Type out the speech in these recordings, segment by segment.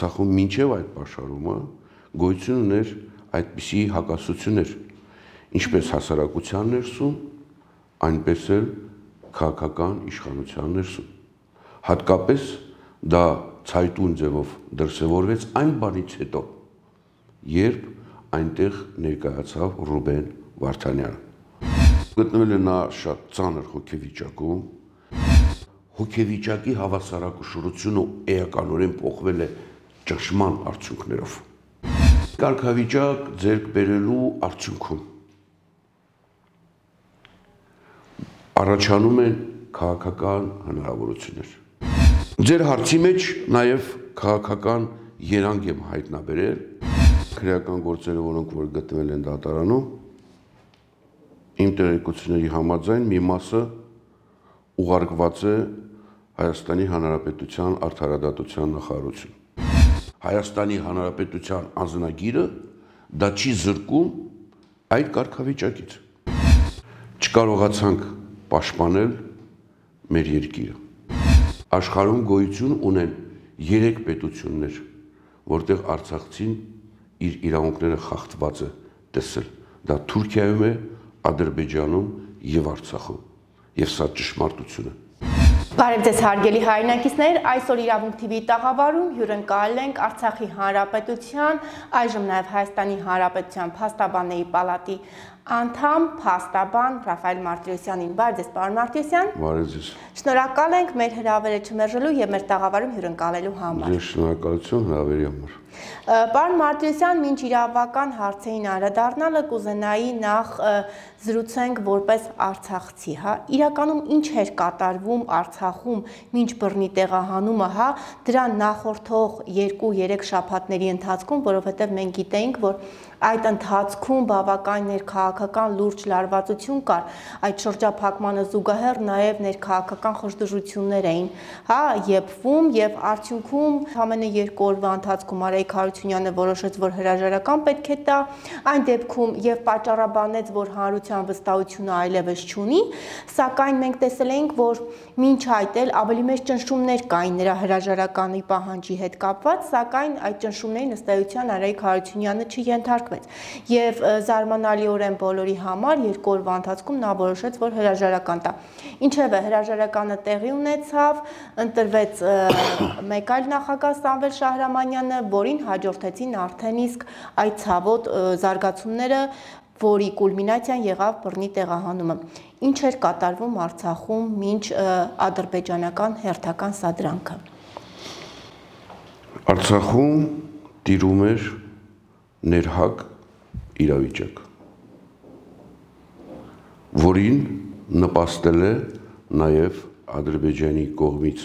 Արցախում մինչև այդ պաշարումը գոյություն ուներ այդպիսի հակասություններ, ինչպես հասարակության ներսում, այնպես էլ քաղաքական իշխանության ներսում։ Հատկապես դա ցայտուն ձևով դրսևորվեց այն բանից հետո, երբ այնտեղ ներկայացավ Ռուբեն Վարդանյանը։ Գտնվել է նա շատ ծանր հոգեվիճակում, հոգեվիճակի հավասարակշռությունը էականորեն փոխվել է ճնշման արդյունքներով։ Կարգավիճակ ձեռք բերելու արդյունքում առաջանում են քաղաքական հնարավորություններ։ Ձեր հարցի մեջ նաև քաղաքական երանգ եմ հայտնաբերել քրեական գործերը, որոնք որ գտնվել են դատարանում, իմ տեղեկությունների համաձայն մի մասը ուղարկված է Հայաստանի Հանրապետության Արդարադատության նախարարություն։ Հայաստանի Հանրապետության անձնագիրը դա չի զրկում այդ կարգավիճակից։ Չկարողացանք պաշտպանել մեր երկիրը։ Աշխարհում գոյություն ունեն 3 պետություններ, որտեղ արցախցին իր իրավունքները խախտված է տեսել։ Դա Թուրքիայում է, Ադրբեջանում եւ Արցախում։ Եվ սա ճշմարտություն է։ Բարև ձեզ հարգելի հայրենակիցներ, այսօր Իրավունք TV-ի տաղավարում հյուրընկալել ենք Արցախի Հանրապետության, այժմ նաև Հայաստանի Հանրապետության Փաստաբանների պալատի անդամ, փաստաբան Ռաֆայել Մարտիրոսյանին։ Բարև ձեզ, պարոն Մարտիրոսյան։ Բարև ձեզ։ Շնորհակալ ենք մեր հրավերը չմերժելու եւ մեր տաղավարում հյուրընկալելու համար։ Ձեզ շնորհակալություն հրավերի համար։ Պարոն Մարտիրոսյան, մինչ իրավական հարցերին անդրադառնալը կուզենայի նախ զրուցենք որպես արցախցի, հա, իրականում ինչ էր կատարվում Արցախում մինչ բռնի տեղահանումը, հա, դրա նախորդող 2-3 շաբաթների ընթացքում, որովհետև մենք գիտեինք, որ այդ ընթացքում բավական ներքաղաքական լուրջ լարվածություն կար, այդ շրջափակմանը զուգահեռ նաև ներքաղաքական խժդժություններ էին, հա, եփվում եւ արդյունքում ամենը 2 օրվա ընթացքում Արայիկ Հարությունյանը որոշեց, որ հրաժարական պետք է տա, այն դեպքում եւ պատճառաբանեց, որ հանրության վստահությունը այլևս չունի, սակայն մենք տեսել ենք, որ մինչ այդ էլ ավելի մեծ ճնշումներ կային նրա հրաժարականի պահանջի հետ կապված, սակայն այդ ճնշումներին ըստ էության Արայիկ Հարությունյանը չենթարկվեց եւ զարմանալիորեն բոլորի համար 2 օրվա ընթացքում նա որոշեց, որ հրաժարական տա։ Ինչևէ, հրաժարականը տեղի ունեցավ, ընտրվեց մեկ այլ նախագահ Սամվել Շահրամանյանը, որին հաջորդեցին արդեն իսկ այդ ցավոտ զարգացումները, որի կուլմինացիան եղավ բռնի տեղահանումը։ Ինչ էր կատարվում Արցախում մինչ ադրբեջանական հերթական սադրանքը։ Արցախում տիրում էր ներհակ իրավիճակ, որին նպաստել է նաև Ադրբեջանի կողմից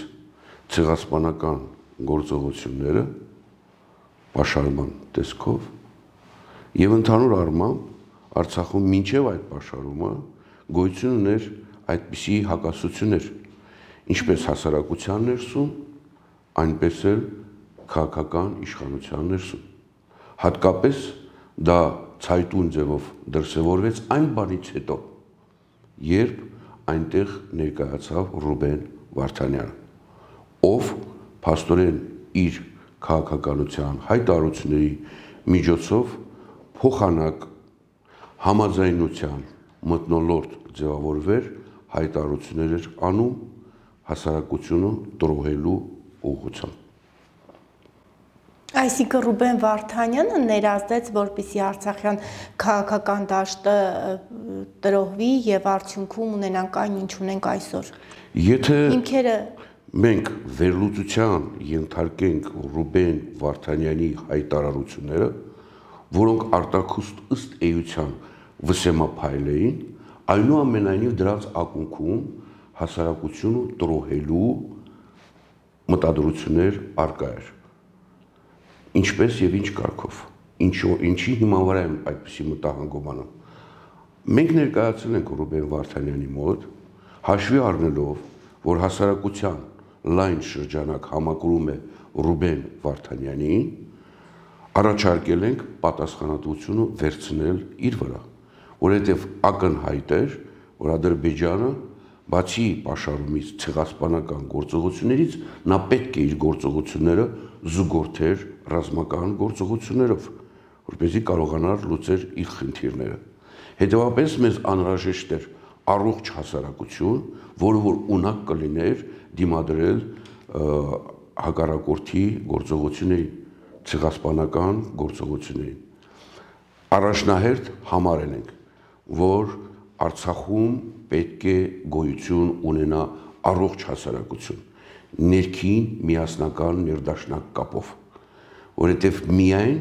ցեղասպանական գործողությունները պաշարման տեսքով եւ ընդհանուր առմամբ Արցախում մինչև այդ պաշարումը գոյություն ուներ այդպիսի հակասություններ, ինչպես հասարակության ներսում, այնպես էլ քաղաքական իշխանության ներսում։ Հատկապես դա ցայտուն ձևով դրսևորվեց այն բանից հետո, երբ այնտեղ ներկայացավ Ռուբեն Վարդանյանը, ով փաստորեն իր քաղաքականության հայտարարությունների միջոցով փոխանակ համաձայնության մթնոլորտ ձևավորվեր հայտարարություններ էր անում հասարակությունը տրոհելու ուղղությամբ։ Այսինքն Ռուբեն Վարդանյանը ներազդեց, որպեսզի արցախյան քաղաքական դաշտը տրոհվի եւ արդյունքում ունենանք այն, ինչ ունենք այսօր։ Եթե հիմքերը մենք վերլուծության ենթարկենք Ռուբեն Վարդանյանի հայտարարությունները, որոնք արտաքուստ ըստ էության վսեմափայլ էին, այնուամենայնիվ դրանց ակունքում հասարակությունը տրոհելու մտադրություններ արկա էր։ Ինչպես եւ ինչ կարգով, ինչի հիման վրա եմ այդպիսի մտահանգում անում։ Մենք ներկայացել ենք Ռուբեն Վարդանյանի մոտ, հաշվի առնելով, որ հասարակության լայն շրջանակ համակրում է Ռուբեն Վարդանյանին, առաջարկել ենք պատասխանատվությունը վերցնել իր վրա, որովհետև ակնհայտ էր, որ Ադրբեջանը բացի պաշարումից ցեղասպանական գործողություններից նա պետք է իր գործողությունները զուգորդեր ռազմական գործողություններով, որպեսզի կարողանար լուծել իր խնդիրները։ Հետևաբար մեզ անհրաժեշտ էր առողջ հասարակություն, որը որ ունակ կլիներ դիմադրել հակառակորդի գործողություններին, ցեղասպանական գործողություններին։ Առաջնահերթ համարել ենք, որ Արցախում պետք է գոյություն ունենա առողջ հասարակություն, ներքին միասնական ներդաշնակ կապով, որովհետև միայն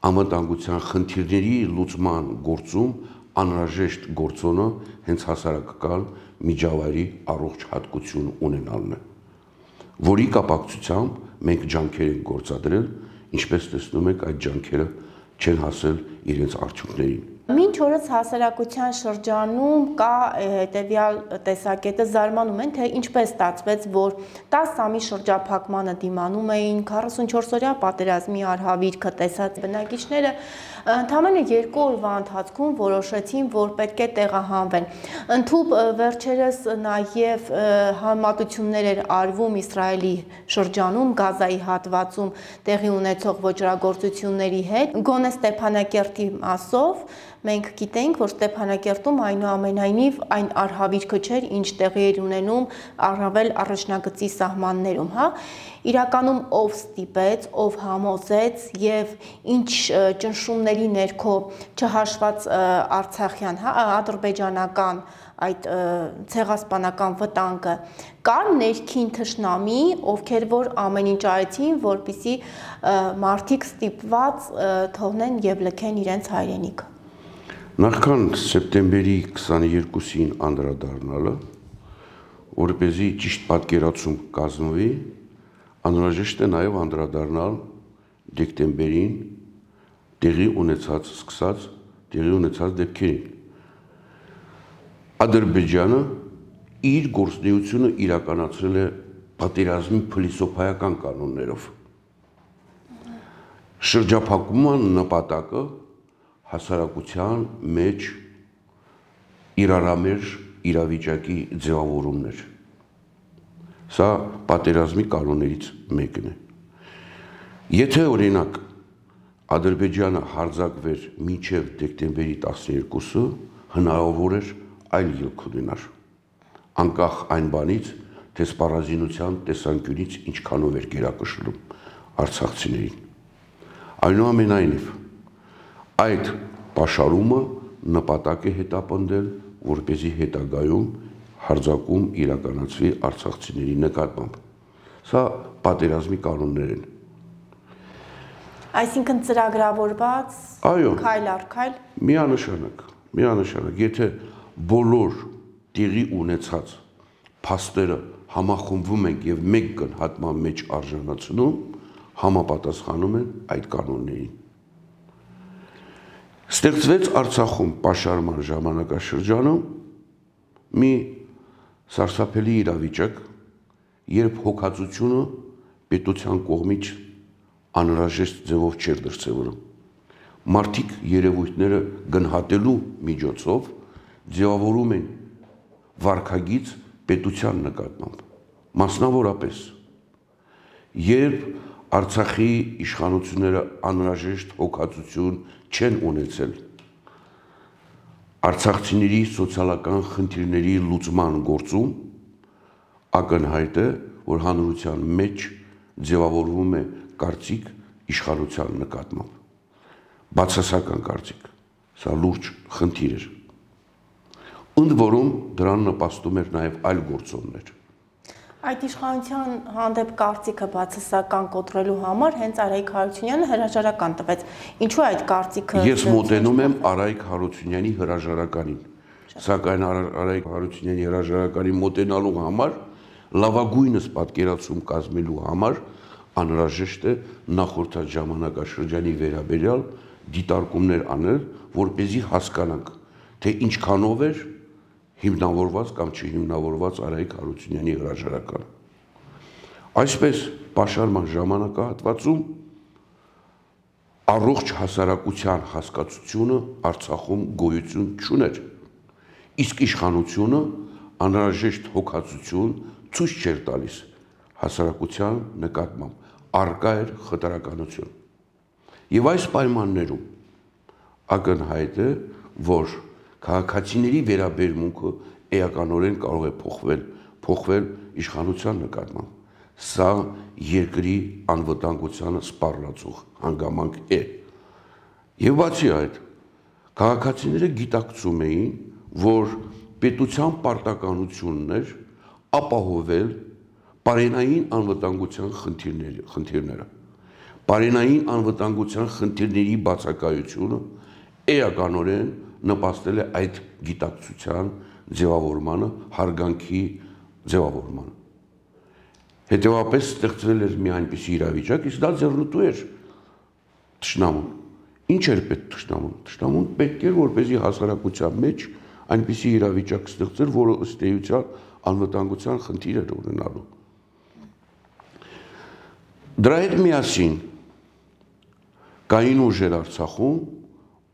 անվտանգության խնդիրների լուծման գործում անհրաժեշտ գործոնը հենց հասարակական միջավայրի առողջ հատկություն ունենալն է, որի կապակցությամբ մենք ջանքեր ենք գործադրել, ինչպես տեսնում եք, այդ ջանքերը չեն հասել իրենց արդյունքներին։ Մինչ օրս հասարակության շրջանում կա հետևյալ տեսակետը, զարմանում են, թե ինչպես ստացվեց, որ 10 ամի շրջափակմանը դիմանում էին 44-օրյա պատերազմի արհավիրքը տեսած բնակիչները ընդամենը 2 օրվա ընթացքում որոշեցին, որ պետք է տեղահանվեն։ Ընդհուպ վերջերս նաև համատություններ էր արվում Իսրայելի շրջանում, Գազայի հատվածում տեղի ունեցող ոճրագործությունների հետ, գոնե Ստեփանակերտի մասով մենք գիտենք, որ Ստեփանակերտում այնուամենայնիվ այն արհավիրքը չէր, ինչ տեղի էր ունենում առավել առաջնագծի սահմաններում, հա։ Իրականում ով ստիպեց, ով համոզեց եւ ինչ ճնշումների ներքո չհաշված արցախյան, հա, ադրբեջանական այդ ցեղասպանական վտանգը, կար ներքին թշնամի, ովքեր որ ամեն ինչ արեցին, որպեսզի մարդիկ ստիպված թողնեն եւ լքեն իրենց հայրենիքը։ Նախքան սեպտեմբերի 22-ին անդրադառնալը, որպեսզի ճիշտ պատկերացում կազմվի, անհրաժեշտ է նաև անդրադառնալ դեկտեմբերին տեղի ունեցած դեպքերին։ Ադրբեջանը իր գործունեությունը իրականացրել է պատերազմի փիլիսոփայական կանոններով։ Շրջափակման նպատակը հասարակության մեջ իրարամերժ իրավիճակի ձևավորումն էր։ Սա պատերազմի կանոններից մեկն է։ Եթե օրինակ Ադրբեջանը հարձակվեր մինչև դեկտեմբերի 12-ը, հնարավոր էր այլ ելք ունենար, անկախ այն բանից, թե սպառազինության տեսանկյունից ինչքանով էր գերակշռում արցախցիներին։ Այնուամենայնիվ, այդ պաշարումը նպատակ է հետապնդել, որպեսզի հետագայում հարձակում իրականացվի արցախցիների նկատմամբ։ Սա պատերազմի կանոններ են։ Այսինքն ծրագրավորված, քայլ առ քայլ։ Միանշանակ, եթե բոլոր տեղի ունեցած փաստերը համախմբվում են եւ մեկ գնահատման մեջ արժանացնում, համապատասխանում են այդ կանոններին։ Ստեղծվեց Արցախում պաշարման ժամանակաշրջանում մի սարսափելի իրավիճակ, երբ հոգացությունը պետության կողմից անհրաժեշտ ձևով չէր դրսևորում։ Մարդիկ երևույթները գնահատելու միջոցով ձևավորում են վարքագիծ պետության նկատմամբ, մասնավորապես, երբ Արցախի իշխանությունները անհրաժեշտ հոգացություն չեն ունեցել արցախցիների սոցիալական խնդիրների լուծման գործում, ակնհայտ է, որ հանրության մեջ ձևավորվում է կարծիք իշխանության նկատմամբ, բացասական կարծիք, սա լուրջ խնդիր էր։ Ընդ որում դրան նպաստում էր նաև այլ գործոններ։ Այդ իշխանության հանդեպ կարծիքը բացասական կոտրելու համար հենց Արայիկ Հարությունյանը հրաժարական տվեց։ Ինչու այդ կարծիքը։ Ես մոտենում եմ Արայիկ Հարությունյանի հրաժարականին, սակայն Արայիկ Հարությունյանի հրաժարականին մոտենալու համար լավագույնս պատկերացում կազմելու համար անհրաժեշտ է նախորդած ժամանակաշրջանի վերաբերյալ դիտարկումներ անել, որպեսզի հասկանանք, թե ինչքանով էր հիմնավորված կամ չհիմնավորված Արայիկ Հարությունյանի հրաժարականը։ Այսպես պաշարման ժամանակահատվածում առողջ հասարակության հասկացությունը Արցախում գոյություն չուներ, իսկ իշխանությունը անհրաժեշտ հոգացություն ցույց չէր տալիս հասարակության նկատմամբ, արկա էր խտրականություն։ Եվ այս պայմաններում ակնհայտ է, որ քաղաքացիների վերաբերմունքը էականորեն կարող է փոխվել իշխանության նկատմամբ։ Սա երկրի անվտանգությանը սպառնացող հանգամանք է։ Եվ բացի այդ, քաղաքացիները գիտակցում էին, որ պետության պարտականությունն էր ապահովել պարենային անվտանգության խնդիրները։ Պարենային անվտանգության խնդիրների բացակայությունը էականորեն նպաստել է այդ գիտակցության ձևավորմանը, հարգանքի ձևավորմանը։ Հետևաբար ստեղծվել էր մի այնպիսի իրավիճակ, իսկ դա ձեռնտու էր թշնամուն։ Ինչ էր պետք թշնամուն։ Թշնամուն պետք էր, որպեսզի հասարակության մեջ այնպիսի իրավիճակ ստեղծեր, որը ըստ էության անվտանգության խնդիր էր ունենալու։ Դրա հետ միասին կային ուժեր Արցախում,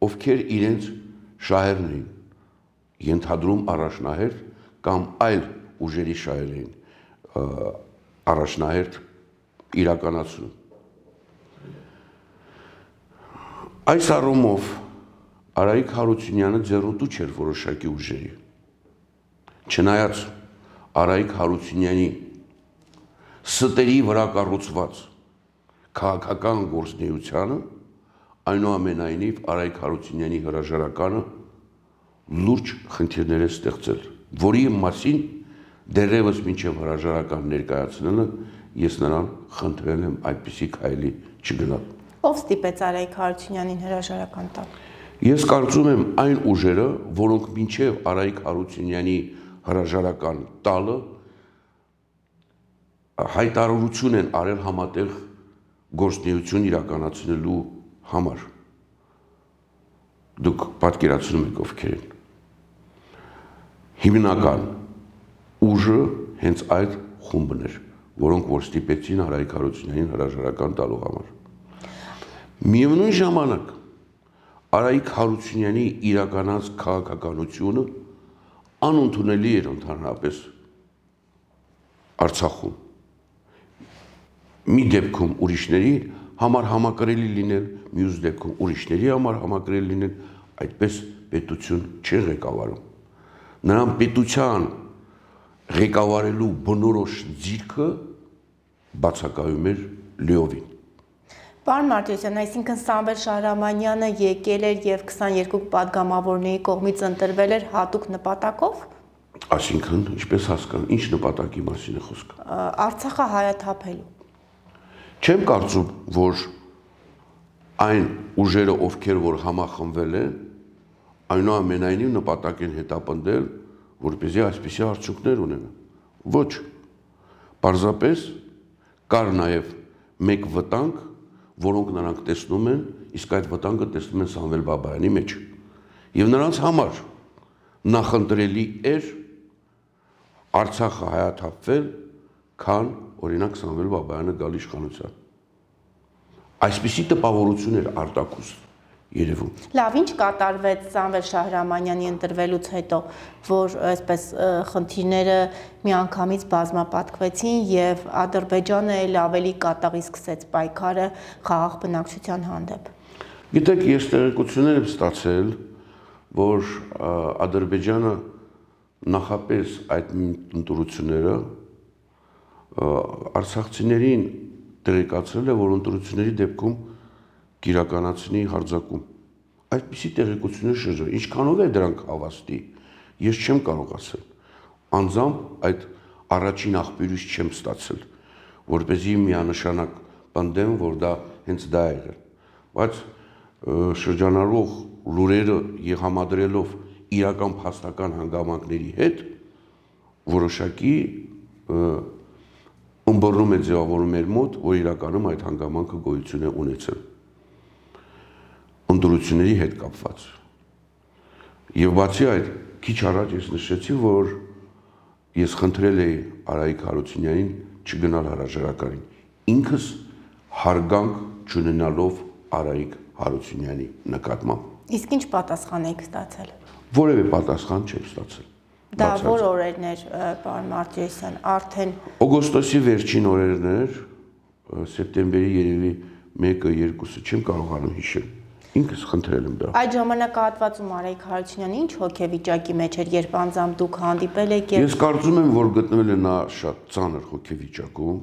ովքեր իրենց շահերն էին ենթադրում առաջնահերթ կամ այլ ուժերի շահեր էին առաջնահերթ իրականացնում։ Այս առումով Արայիկ Հարությունյանը ձեռնտու չէր որոշակի ուժերի։ Չնայած Արայիկ Հարությունյանի ստերի վրա կառուցված քաղաքական գործունեությանը, այնուամենայնիվ Արայիկ Հարությունյանի հրաժարականը լուրջ խնդիրներ է ստեղծել, որի մասին դեռևս մինչև հրաժարական ներկայացնելը ես նրան խնդրել եմ այդպիսի քայլի չգնալ։ Ով ստիպեց Արայիկ Հարությունյանին հրաժարական տալ։ Ես կարծում եմ այն ուժերը, որոնք մինչև Արայիկ Հարությունյանի հրաժարական տալը հայտարարություն են արել համատեղ գործունեություն իրականացնելու համար։ Դուք պատկերացնում եք ովքեր են։ Հիմնական ուժը հենց այդ խումբն էր, որոնք որ ստիպեցին Արայիկ Հարությունյանին հրաժարական տալու համար։ Միևնույն ժամանակ Արայիկ Հարությունյանի իրականացած քաղաքականությունը անընդունելի էր ընդհանրապես Արցախում։ Մի դեպքում ուրիշների համար համակրելի լինել, մյուս դեպքում ուրիշների համար համակրելի լինել, այդպես պետություն չի ղեկավարում։ Նրան պետության ղեկավարելու բնորոշ ձիրքը բացակայում էր լիովին։ Պարոն Մարտիրոսյան, այսինքն Սամվել Շահրամանյանը եկել էր եւ 22 падգամավորների կողմից ընտրվել էր հատուկ նպատակով։ Այսինքն, ինչպես հասկանալ, ինչ նպատակի մասին է խոսքը։ Արցախը հայաթափելու։ Չեմ կարծում, որ այն ուժերը, ովքեր որ համախմբվել են, այնուամենայնիվ նպատակ են հետապնդել, որպեսզի այսպիսի արդյունքներ ունենան։ Ոչ։ Պարզապես կար նաև մեկ վտանգ, որոնք նրանք տեսնում են, իսկ այդ վտանգը տեսնում են Սամվել Բաբայանի մեջ։ Եվ նրանց համար նախընտրելի էր Արցախը հայաթափվել, քան օրինակ Սամվել Բաբայանը գալ իշխանության։ Այսպիսի տպավորություն էր արտաքուստ երևում։ Լավ, ինչ կատարվեց Սամվել Շահրամանյանի ընտրվելուց հետո, որ այսպես խնդիրները միանգամից բազմապատկվեցին եւ Ադրբեջանը էլ ավելի կատաղի սկսեց պայքարը խաղաղ բնակչության հանդեպ։ Գիտեք, ես տեղեկություններ եմ ստացել, որ Ադրբեջանը նախապես այդ ընտրությունները արցախցիներին տեղեկացրել է, որ ընտրությունների դեպքում կիրականացնի հարձակում։ Այդպիսի տեղեկություններ շրջան, ինչքանով է դրանք հավաստի, ես չեմ կարող ասել։ Անձամբ այդ առաջին աղբյուրից չեմ ստացել, որպեսզի միանշանակ պնդեմ, որ դա հենց դա է եղել։ Բայց շրջանառող լուրերը եւ համադրելով իրական փաստական հանգամանքների հետ որոշակի ըմբռնում է ձևավորում մեր մոտ, որ իրականում այդ հանգամանքը գոյություն է ունեցել ընտրությունների հետ կապված։ Եվ բացի այդ, քիչ առաջ ես նշեցի, որ ես խնդրել էի Արայիկ Հարությունյանին չգնալ հրաժարականին, ինքս հարգանք չունենալով Արայիկ Հարությունյանի նկատմամբ։ Իսկ ինչ պատասխան եք ստացել։ Որևէ պատասխան չեմ ստացել։ Դա որ օրերն էր, պարոն Մարտիրոսյան, արդեն օգոստոսի վերջին օրերն էր, սեպտեմբերի երևի 1-2-ը չեմ կարողանում հիշել։ Ինքս խնդրել եմ դա։ Այդ ժամանակահատվածում Արայք Հարությունյանը ինչ հոգեվիճակի մեջ էր, երբ անձամբ դուք հանդիպել եք եւ… Ես կարծում եմ, որ գտնվել է նա շատ ծանր հոգեվիճակում։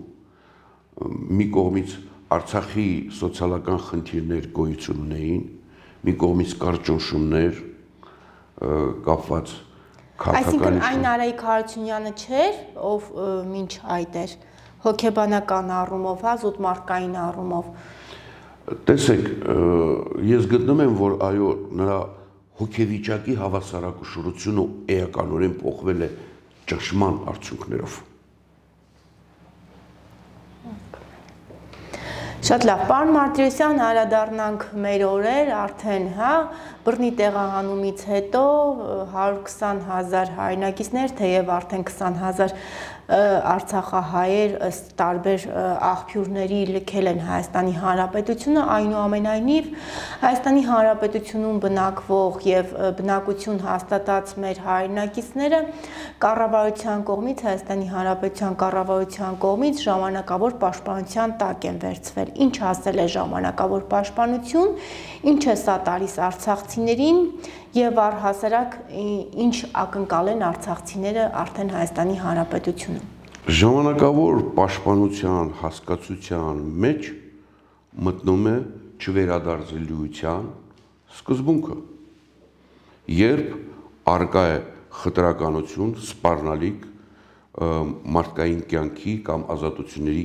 Մի կողմից Արցախի սոցիալական խնդիրներ գոյություն ունեին, մի կողմից կար ճնշումներ կապված քաղաքականության։ Այսինքն այն Արայք Հարությունյանը չէր, ով մինչ այդ էր հոգեբանական առումով, հա, զուտմարտկային առումով։ Տեսեք, ես գտնում եմ, որ այո, նրա հոգեվիճակի հավասարակշռությունը էականորեն փոխվել է ճնշման արդյունքներով։ Շատ լավ, պարոն Մարտիրոսյան, անդրադառնանք մեր օրեր, արդեն, հա, բռնի տեղահանումից հետո 120,000 հայրենակիցներ, թեև արդեն 20,000 արցախահայեր ըստ տարբեր աղբյուրների լքել են Հայաստանի Հանրապետությունը, այնուամենայնիվ Հայաստանի Հանրապետությունում բնակվող եւ բնակություն հաստատած մեր հայրենակիցները կառավարության կողմից, Հայաստանի Հանրապետության կառավարության կողմից ժամանակավոր պաշտպանության տակ են վերցվել։ Ինչ ասել է ժամանակավոր պաշտպանություն, ինչ է սա տալիս արցախցիներին եւ առհասարակ ինչ ակնկալ են արցախցիները արդեն Հայաստանի Հանրապետությունում։ Ժամանակավոր պաշտպանության հասկացության մեջ մտնում է չվերադարձելիության սկզբունքը, երբ արկա է խտրականություն, սպառնալիք մարդկային կյանքի կամ ազատությունների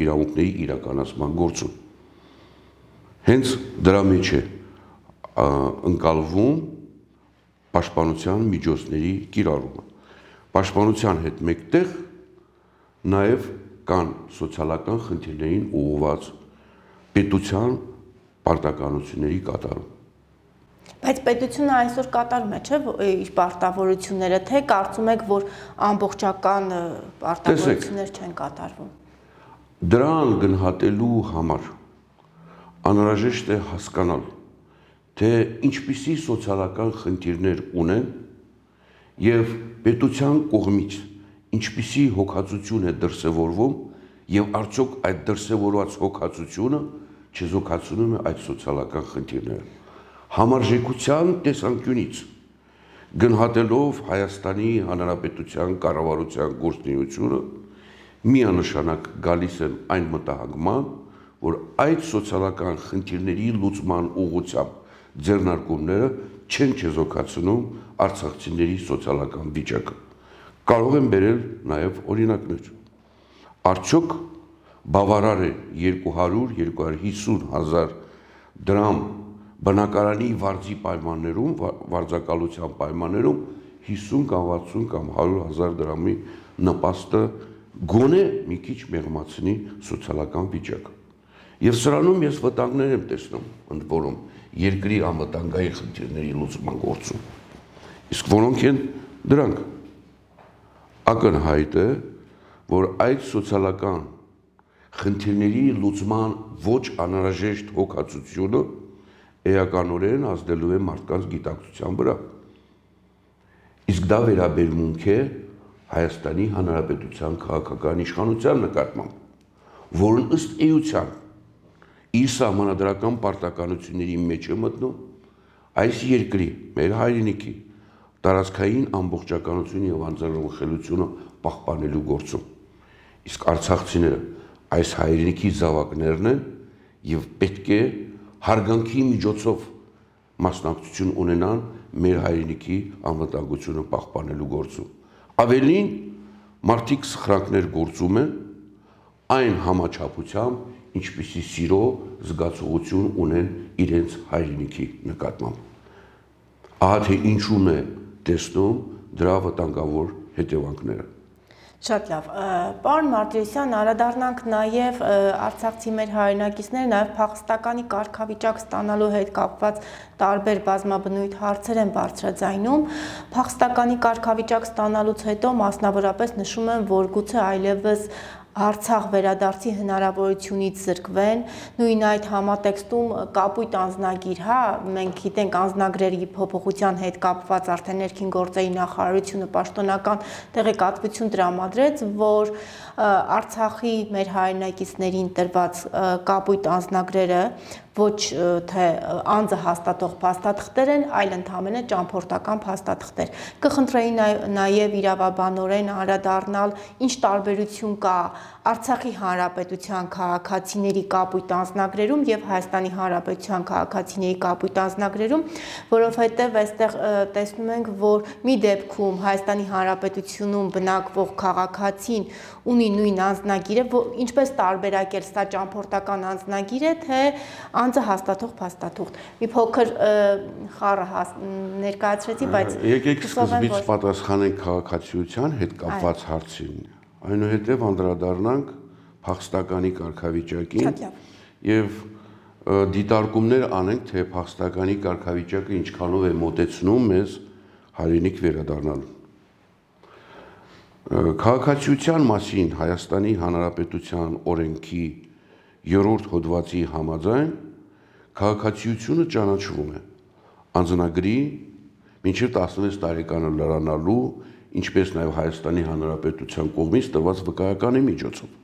իրավունքների իրականացման գործում։ Հենց դրա մեջ է ընկալվում պաշտպանության միջոցների կիրառումը։ Պաշտպանության հետ մեկտեղ նաև կան սոցիալական խնդիրներին ուղղված պետության պարտականությունների կատարում։ Բայց պետությունը այսօր կատարում է, չէ՞, իր պարտավորությունները, թե կարծում եք, որ ամբողջական պարտավորություններ չեն կատարվում։ Դրան գնահատելու համար անհրաժեշտ է հասկանալ, թե ինչպիսի սոցիալական խնդիրներ ունեն եւ պետության կողմից ինչպիսի հոգացություն է դրսևորվում եւ արդյոք այդ դրսևորված հոգացությունը չզոքացնում է այդ սոցիալական խնդիրները։ Համարժեքության տեսանկյունից գնահատելով Հայաստանի Հանրապետության կառավարության գործունեությունը միանշանակ գալիս են այն մտահոգման, որ այդ սոցիալական խնդիրների լուծման ուղղությամբ ձեռնարկումները չեն չեզոքացնում արցախցիների սոցիալական վիճակը։ Կարող են բերել նաև օրինակներ։ Արդյոք բավարար է 200-250 հազար դրամ բնակարանի վարձի պայմաններում, վարձակալության պայմաններում 50 կամ 60 կամ 100 հազար դրամի նպաստը գոնե մի քիչ մեղմացնի սոցիալական վիճակը։ Եվ սրանում ես վտանգներ եմ տեսնում, ընդ որում երկրի անվտանգային խնդիրների լուծման գործում։ Իսկ որոնք են դրանք։ Ակնհայտ է, որ այդ սոցիալական խնդիրների լուծման ոչ անհրաժեշտ հոգացությունը էականորեն ազդելու է մարդկանց գիտակցության վրա։ Իսկ դա վերաբերմունք է Հայաստանի Հանրապետության քաղաքական իշխանության նկատմամբ, որն ըստ էության իր սահմանադրական պարտականությունների մեջ է մտնում այս երկրի, մեր հայրենիքի տարածքային ամբողջականությունը եւ անձնախելությունը պահպանելու գործում։ Իսկ արցախցիները այս հայրենիքի զավակներն են եւ պետք է հարգանքի միջոցով մասնակցություն ունենան մեր հայրենիքի անվտանգությունը պահպանելու գործում։ Ավելին, մարդիկ սխրանքներ գործում են այն համաչափությամբ, ինչպիսի սիրո զգացողություն ունեն իրենց հայրենիքի նկատմամբ։ Ահա թե ինչու՞ն է տեսնում դրա վտանգավոր հետևանքները։ Շատ լավ, պարոն Մարտիրոսյան, անդրադառնանք նաև արցախցի մեր հայրենակիցները նաև փախստականի կարգավիճակ ստանալու հետ կապված տարբեր բազմաբնույթ հարցեր են բարձրաձայնում։ Փախստականի կարգավիճակ ստանալուց հետո մասնավորապես նշում են, որ գուցե այլևս Արցախ վերադարձի հնարավորությունից զրկվեն, նույն այդ համատեքստում կապույտ անձնագիր, հա, մենք գիտենք անձնագրերի փոփոխության հետ կապված արդեն ներքին գործերի նախարարությունը պաշտոնական տեղեկատվություն տրամադրեց, որ Արցախի մեր հայրենակիցներին տրված կապույտ անձնագրերը ոչ թե անձը հաստատող փաստաթղթեր են, այլ ընդհանրապես ճամփորդական փաստաթղթեր։ Կխնդրեի նաև իրավաբանորեն անդրադառնալ, ինչ տարբերություն կա Արցախի հանրապետության քաղաքացիների կապույտ անձնագրերում եւ Հայաստանի հանրապետության քաղաքացիների կապույտ անձնագրերում, որովհետեւ այստեղ տեսնում ենք, որ մի դեպքում Հայաստանի հանրապետությունում բնակվող քաղաքացին ունի նույն անձնագիրը, ինչպես տարբերակել սա ճամփորդական անձնագիր է, թե անձը հաստատող փաստաթուղթ։ Մի փոքր խառը ներկայացրեցի, բայց եկեք սկզբից պատասխանենք քաղաքացիության հետ կապված հարցին, այնուհետև անդրադառնանք փախստականի կարգավիճակին եւ դիտարկումներ անենք, թե փախստականի կարգավիճակը ինչքանով է մոտեցնում մեզ հայրենիք վերադառնալու։ Քաղաքացիության մասին Հայաստանի Հանրապետության օրենքի 3-րդ հոդվածի համաձայն քաղաքացիությունը ճանաչվում է անձնագրի մինչև 16 տարեկանը լրանալու, ինչպես նաև Հայաստանի Հանրապետության կողմից տրված վկայականի միջոցով։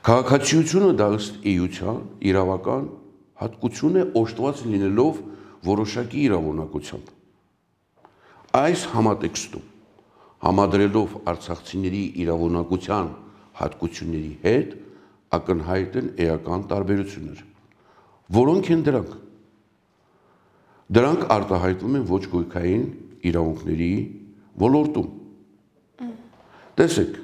Քաղաքացիությունը դա ըստ էության իրավական հատկություն է օժտված լինելով որոշակի իրավունակությամբ։ Այս համատեքստում համադրելով արցախցիների իրավունակության հատկությունների հետ ակնհայտ են էական տարբերություններ։ Որոնք են դրանք։ Դրանք արտահայտվում են ոչ գույքային իրավունքների ոլորտում։ Տեսեք,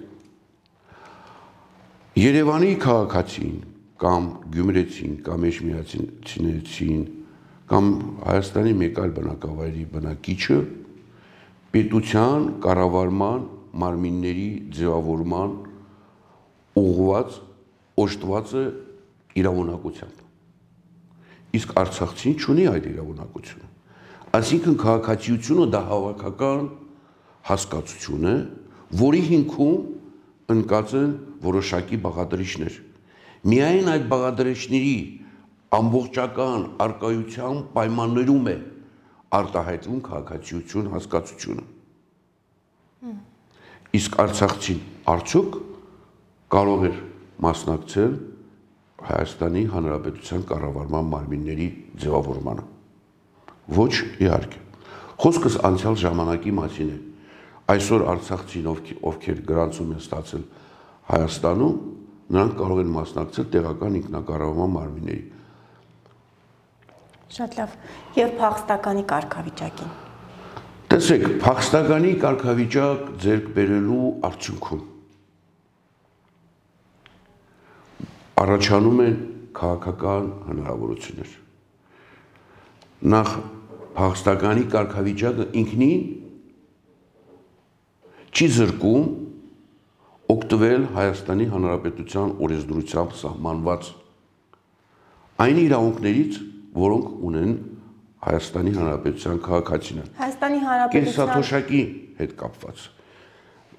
Երևանի քաղաքացին կամ գյումրեցին կամ էջմիածին կամ Հայաստանի մեկ այլ բնակավայրի բնակիչը պետության կառավարման մարմինների ձևավորման ուղղված օժտված է իրավունակությամբ։ Իսկ արցախցին չունի այդ իրավունակությունը։ Այսինքն քաղաքացիությունը դա հավաքական հասկացություն է, որի հիմքում ընկած են որոշակի բաղադրիչներ։ Միայն այդ բաղադրիչների ամբողջական արկայության պայմաններում է արտահայտվում քաղաքացիություն հասկացությունը։ Իսկ արցախցին արդյոք կարող էր մասնակցել Հայաստանի Հանրապետության կառավարման մարմինների ձևավորմանը։ Ոչ, իհարկե։ Խոսքս անցյալ ժամանակի մասին է։ Այսօր արցախցին, ովքեր գրանցում են ստացել Հայաստանում, նրանք կարող են մասնակցել տեղական ինքնակառավարման մարմինների։ Շատ լավ։ Եվ փախստականի կարգավիճակին։ Տեսեք, փախստականի կարգավիճակ ձեռք բերելու արդյունքում առաջանում են քաղաքական հնարավորություններ։ Նախ փախստականի կարգավիճակը ինքնին չի զրկում օգտվել Հայաստանի Հանրապետության օրենսդրությամբ սահմանված այն իրավունքներից, որոնք ունեն Հայաստանի Հանրապետության քաղաքացիները։ Հայաստանի Հանրապետության կենսաթոշակի հետ կապված։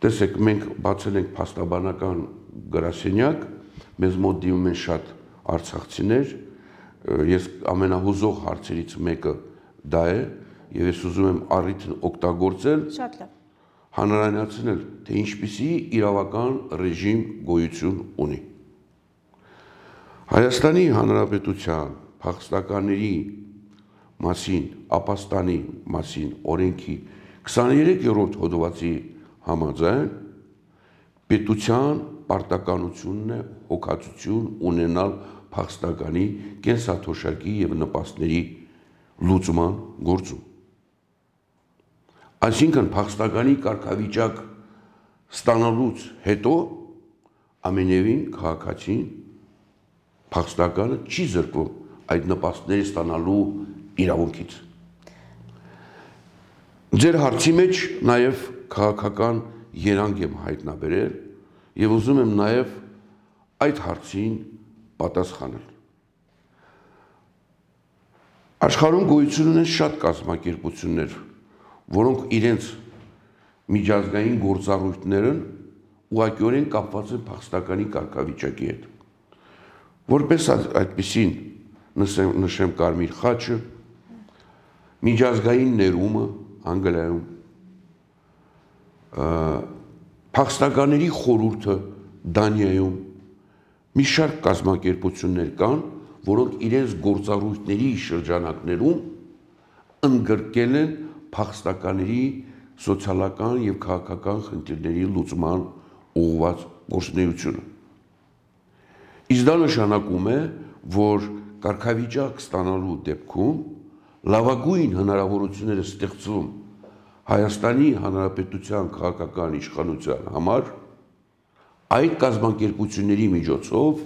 Տեսեք, մենք բացել ենք փաստաբանական գրասենյակ, մեզ մոտ դիմում են շատ արցախցիներ, ես ամենահուզող հարցերից մեկը դա է, եւ ես ուզում եմ առիթն օգտագործել, շատ լավ, հանրայնացնել, թե ինչպիսի իրավական ռեժիմ գոյություն ունի։ Հայաստանի Հանրապետության փախստականների մասին, ապաստանի մասին օրենքի 23-րդ հոդվածի համաձայն պետության պարտականությունն է հոգացություն ունենալ փախստականի կենսաթոշակի եւ նպաստների լուծման գործում։ Այսինքն փախստականի կարգավիճակ ստանալուց հետո ամենևին քաղաքացին փախստականը չի զրկվում այդ նպաստների ստանալու իրավունքից։ Ձեր հարցի մեջ նաև քաղաքական երանգ եմ հայտնաբերել եւ ուզում եմ նաև այդ հարցին պատասխանել։ Աշխարհում գոյություն ունեն շատ կազմակերպություններ, որոնք իրենց միջազգային գործառույթներն ուղղակիորեն կապված են փախստականի կարգավիճակի հետ։ Որպես այդպիսին նշեմ Կարմիր խաչը, միջազգային ներումը Անգլիայում, փախստականների խորհուրդը Դանիայում, մի շարք կազմակերպություններ կան, որոնք իրենց գործառույթների շրջանակներում ընդգրկել են փախստականների սոցիալական եւ քաղաքական խնդիրների լուծման ուղղված գործունեությունը։ Իսկ դա նշանակում է, որ կարգավիճակ ստանալու դեպքում լավագույն հնարավորությունները ստեղծվում Հայաստանի Հանրապետության քաղաքական իշխանության համար այդ կազմակերպությունների միջոցով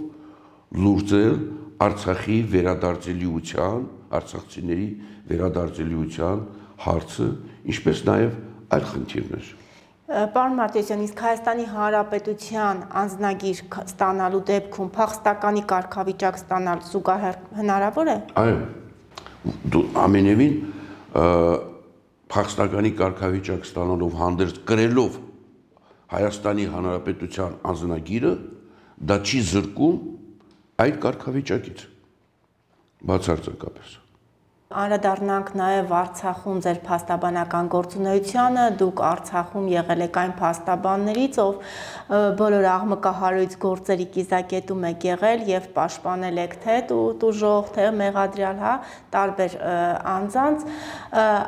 լուծել Արցախի վերադարձելիության, արցախցիների վերադարձելիության հարցը, ինչպես նաև այլ խնդիրներ։ Պարոն Մարտիրոսյան, իսկ Հայաստանի Հանրապետության անձնագիր ստանալու դեպքում փախստականի կարգավիճակ ստանալ զուգահեռ հնարավոր է։ Այո, ամենևին փախստականի կարգավիճակ ստանալով հանդերձ կրելով Հայաստանի Հանրապետության անձնագիրը, դա չի զրկում այդ կարգավիճակից, բացարձակապես։ Անդրադառնանք նաև Արցախում ձեր փաստաբանական գործունեությանը, դուք Արցախում եղել եք այն փաստաբաններից, ով բոլոր աղմկահարույց գործերի կիզակետում եք եղել եւ պաշտպանել եք թե տուժող, թե մեղադրյալ, տարբեր անձանց։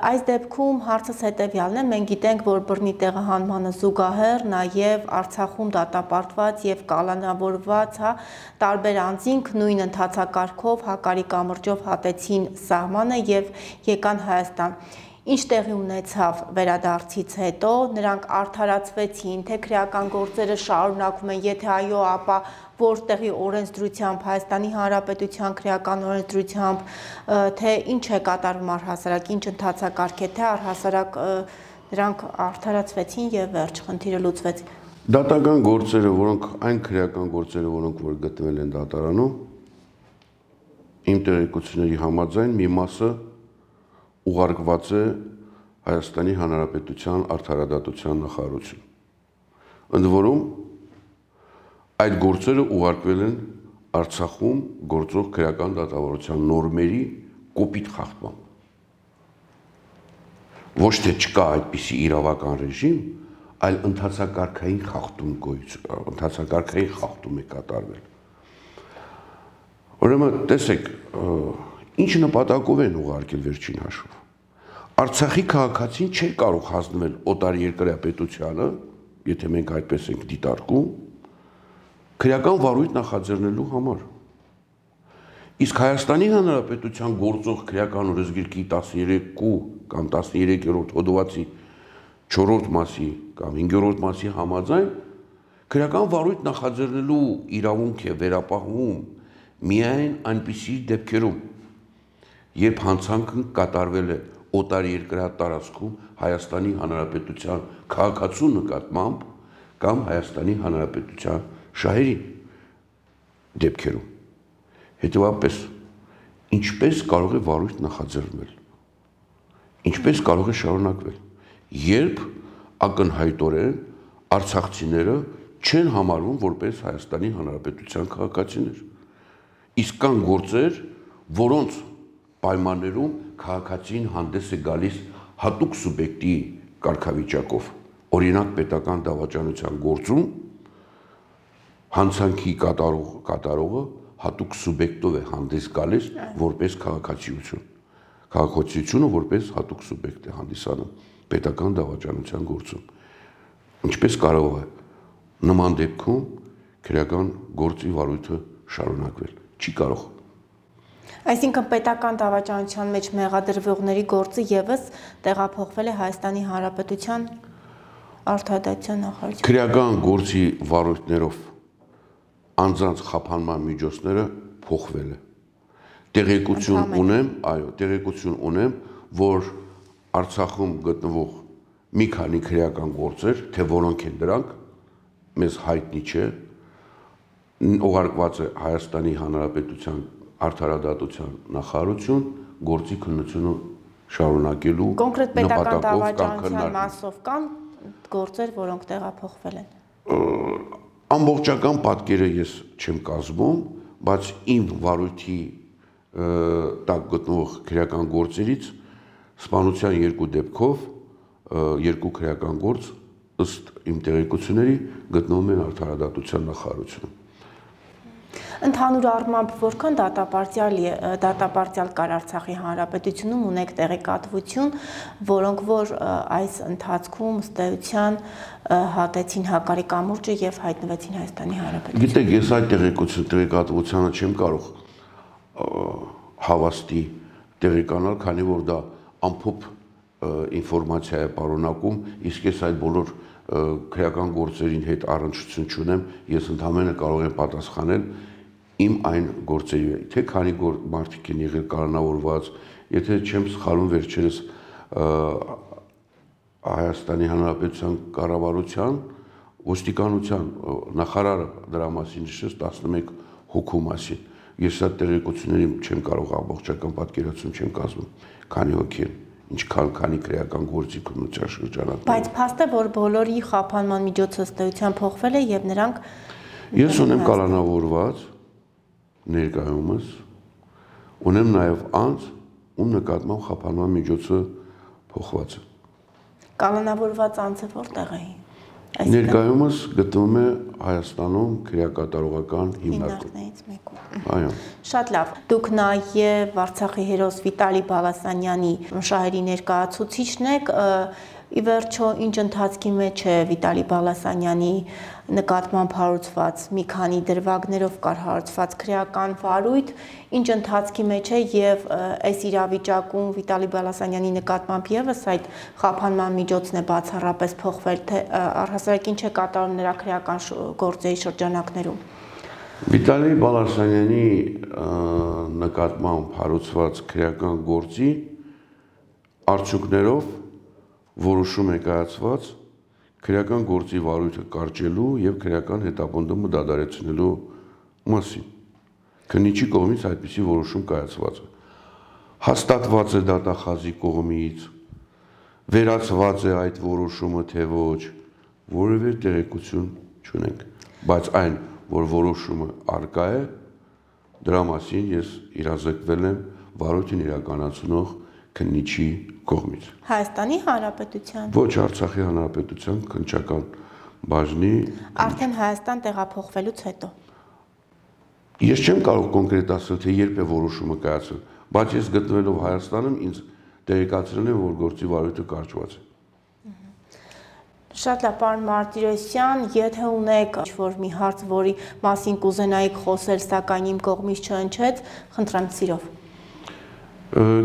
Այս դեպքում հարցս հետեւյալն է, մենք գիտենք, որ բռնի տեղահանմանը զուգահեռ նաև Արցախում դատապարտված եւ կալանավորված, տարբեր անձինք նույն ընթացակարգով հակարի կամրջով հատեցին սահմանը եւ եկան Հայաստան։ Ինչ տեղի ունեցավ վերադարձից հետո, նրանք արդարացվեցին, թե քրեական գործերը շարունակվում են, եթե այո, ապա որտեղի օրենսդրությամբ, Հայաստանի Հանրապետության քրեական օրենսդրությամբ, թե ինչ է կատարվում առհասարակ, ինչ ընթացակարգ է, թե առհասարակ նրանք արդարացվեցին եւ վերջ խնդիրը լուծվեց։ Դատական գործերը, որոնք այն քրեական գործերը, որոնք որ գտնվել են դատարանում, իմ տեղեկությունների համաձայն մի մասը ուղարկված է Հայաստանի Հանրապետության արդարադատության նախարարություն։ Ընդ որում այդ գործերը ուղարկվել են Արցախում գործող քրեական դատավարության նորմերի կոպիտ խախտմամբ։ Ոչ թե չկա այդպիսի իրավական ռեժիմ, այլ ընթացակարգային խախտում է կատարվել։ Ուրեմն տեսեք, ինչ նպատակով են ուղարկել վերջին հաշվով։ Արցախի քաղաքացին չէր կարող հանձնվել օտարերկրյա պետությանը, եթե մենք այդպես ենք դիտարկում, քրեական վարույթ նախաձեռնելու համար։ Իսկ Հայաստանի Հանրապետության գործող քրեական օրենսգիրքի 13 կամ 13-րդ հոդվածի 4-րդ մասի կամ 5-րդ մասի համաձայն քրեական վարույթ նախաձեռնելու իրավունք է վերապահվում միայն այնպիսի դեպքերում, երբ հանցանքն կատարվել է օտարերկրյա տարածքում Հայաստանի Հանրապետության քաղաքացու նկատմամբ կամ Հայաստանի Հանրապետության շահերի դեպքերում։ Հետևաբար, ինչպես կարող է վարույթ նախաձեռնվել, ինչպես կարող է շարունակվել, երբ ակնհայտորեն արցախցիները չեն համարվում որպես Հայաստանի Հանրապետության քաղաքացիներ։ Իսկ կան գործեր, որոնց պայմաններում քաղաքացին հանդես է գալիս հատուկ սուբյեկտի կարգավիճակով, օրինակ պետական դավաճանության գործում հանցանքի կատարողը հատուկ սուբյեկտով է հանդես գալիս որպես քաղաքացիություն։ Քաղաքացիությունը որպես հատուկ սուբյեկտ է հանդիսանում պետական դավաճանության գործում։ Ինչպես կարող է նման դեպքում քրեական գործի վարույթը շարունակվել։ Չի կարող։ Այսինքն պետական դավաճանության մեջ մեղադրվողների գործը եւս տեղափոխվել է Հայաստանի Հանրապետության արդարադատության նախարարություն։ Քրեական գործի վարույթներով անձանց խափանման միջոցները փոխվել է։ Տեղեկություն ունեմ, որ Արցախում գտնվող մի քանի քրեական գործեր, թե որոնք են դրանք, մեզ հայտնի չէ, ուղարկված է Հայաստանի Հանրապետության արդարադատության նախարարություն գործի քննությունը շարունակելու կոնկրետ պետական դավաճանության մասով կան գործեր, որոնք տեղափոխվել են։ ամբողջական պատկերը ես չեմ կազմում, բայց իմ վարույթի տակ գտնող քրեական գործերից սպանության երկու դեպքով երկու քրեական գործ ըստ իմ տեղեկությունների գտնվում են արդարադատության նախարարությունում։ Ընդհանուր առմամբ որքան դատապարտյալ կար Արցախի Հանրապետությունում ունեք տեղեկատվություն, որոնք որ այս ընթացքում ըստ էության հատեցին Հակարի կամուրջը եւ հայտնվեցին Հայաստանի Հանրապետությունում։ Գիտեք, ես այդ տեղեկատվությանը չեմ կարող հավաստի տեղեկանալ, քանի որ դա ամփոփ ինֆորմացիա է պարունակում, իսկ ես այդ բոլոր քրեական գործերին հետ առնչություն չունեմ, ես ընդհանրապես կարող եմ պատասխանել իմ այն գործերի, թե քանի մարդիկ են եղել կալանավորված, եթե չեմ սխալվում վերջերս Հայաստանի Հանրապետության կառավարության ոստիկանության նախարարը դրա մասին նշեց 11 հոգու մասին։ Ես այդ տեղեկությունների չեմ կարող ամբողջական պատկերացում չեմ կազմում, քանի հոգի են, ինչքան քանի քրեական գործիք ու շրջանակներ։ Բայց փաստ է, որ բոլորի խափանման միջոցը ըստ էության փոխվել է եւ նրանք Ես ունեմ կալանավորված ներկայումս, ունեմ նաև անձ, ում նկատմամբ խափանման միջոցը փոխված է։ Կալանավորված անձը որտեղ է։ Ներկայումս գտնվում է Հայաստանում քրեակատարողական հիմնարկում։ Հիմնարկներից մեկում։ Այո։ Շատ լավ։ Դուք նաև Արցախի հերոս Վիտալի Բալասանյանի շահերի ներկայացուցիչն եք։ Ի վերջո, ինչ ընթացքի մեջ է Վիտալի Բալասանյանի նկատմամբ հարուցված մի քանի դրվագներով կար հարուցված քրեական վարույթ, ինչ ընթացքի մեջ է եւ այս իրավիճակում Վիտալի Բալասանյանի նկատմամբ եւս այդ խափանման միջոցն է բացառապես փոխվել, թե առհասարակ ինչ է կատարում նրա քրեական գործերի շրջանակներում։ Վիտալի Բալասանյանի նկատմամբ հարուցված քրեական գործի արդյունքներով որոշում է կայացված քրեական գործի վարույթը կարճելու եւ քրեական հետապնդումը դադարեցնելու մասին։ Քննիչի կողմից այդպիսի որոշում կայացված է։ Հաստատված է դատախազի կողմից, վերացված է այդ որոշումը թե ոչ, որևէ տեղեկություն չունենք, բայց այն, որ որոշումը արկա է, դրա մասին ես իրազեկվել եմ վարույթին իրականացնող քննիչի կողմից։ Հայաստանի Հանրապետության։ Ոչ, Արցախի Հանրապետության քննչական բաժնի։ Արդեն Հայաստան տեղափոխվելուց հետո։ Ես չեմ կարող կոնկրետ ասել, թե երբ է որոշումը կայացել, բայց ես գտնվելով Հայաստանում ինձ տեղեկացրել են, որ գործի վարույթը կարճված է։ Շատ լավ, պարոն Մարտիրոսյան, եթե ունեք ինչ-որ մի հարց, որի մասին կուզենայիք խոսել, սակայն իմ կողմից չհնչեց, խնդրեմ սիրով։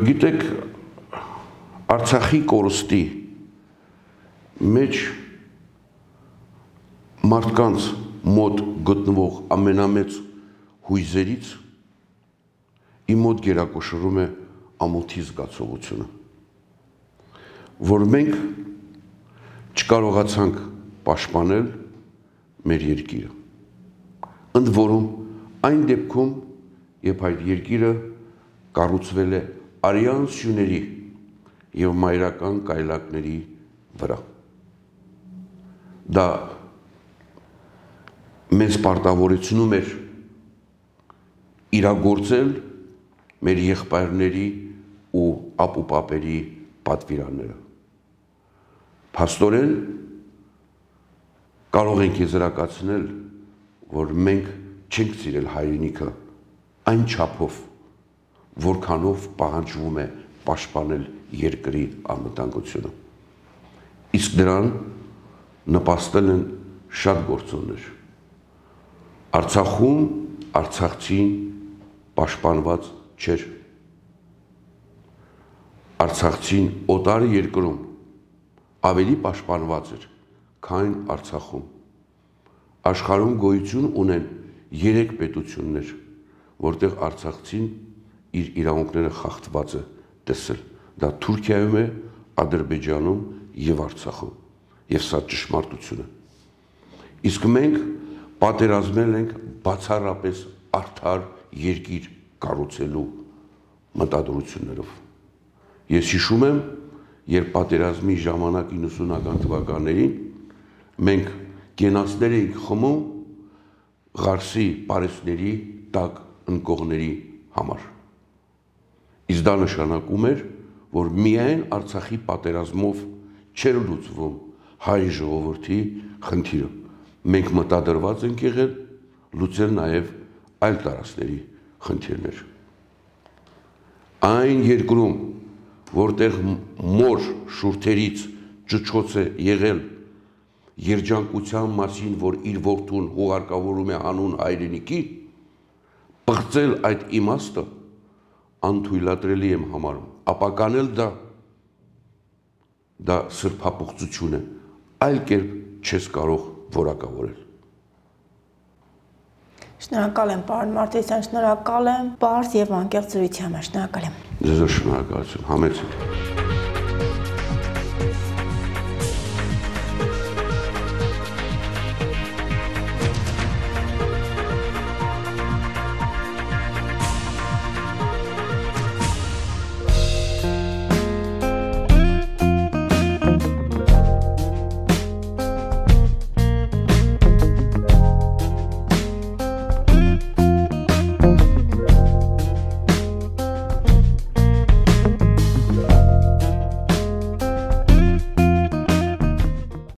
Գիտեք, Արցախի կորստի մեջ մարդկանց մոտ գտնվող ամենամեծ հույզերից իմ մոտ գերակշռում է ամոթի զգացողությունը, որ մենք չկարողացանք պաշտպանել մեր երկիրը։ Ընդ որում այն դեպքում, երբ այդ երկիրը կառուցվել է արյան սյուների եւ մայրական կայլակների վրա։ Դա մեզ պարտավորեցնում էր իրագործել մեր եղբայրների ու ապուպապերի պատվիրանները։ Փաստորեն կարող ենք եզրակացնել, որ մենք չենք սիրել հայրենիքը այն չափով, որքանով պահանջվում է պաշտպանել երկրի անվտանգությունը։ Իսկ դրան նպաստել են շատ գործոններ։ Արցախում արցախցին պաշտպանված չէր։ Արցախցին օտար երկրում ավելի պաշտպանված էր, քան Արցախում։ Աշխարհում գոյություն ունեն 3 պետություններ, որտեղ արցախցին իր իրավունքները խախտված է տեսել։ Դա Թուրքիայում է, Ադրբեջանում եւ Արցախում։ Եվ սա ճշմարտություն է։ Իսկ մենք պատերազմել ենք բացառապես արդար երկիր կառուցելու մտադրություններով։ Ես հիշում եմ, երբ պատերազմի ժամանակ 90-ական թվականներին մենք գենացներ էինք խմում Ղարսի պարեսների տակ ընկողների համար։ Իսկ դա նշանակում էր, որ միայն Արցախի պատերազմով չէր լուծվում հայ ժողովրդի խնդիրը։ Մենք մտադրված ենք եղել լուծել նաև այլ տարածքների խնդիրներ։ Այն երկրում, որտեղ մոր շուրթերից ճչոց է եղել երջանկության մասին, որ իր որդուն հուղարկավորում է հանուն հայրենիքի, պղծել այդ իմաստը անթույլատրելի եմ համարում, ապականել դա սրբապղծություն է, այլ կերպ չես կարող որակավորել։ Շնորհակալ եմ, պարոն Մարտիրոսյան, շնորհակալ եմ պարզ եւ անկեղծ զրույցի համար, շնորհակալ եմ։ Ձեզ շնորհակալություն, համեցեք։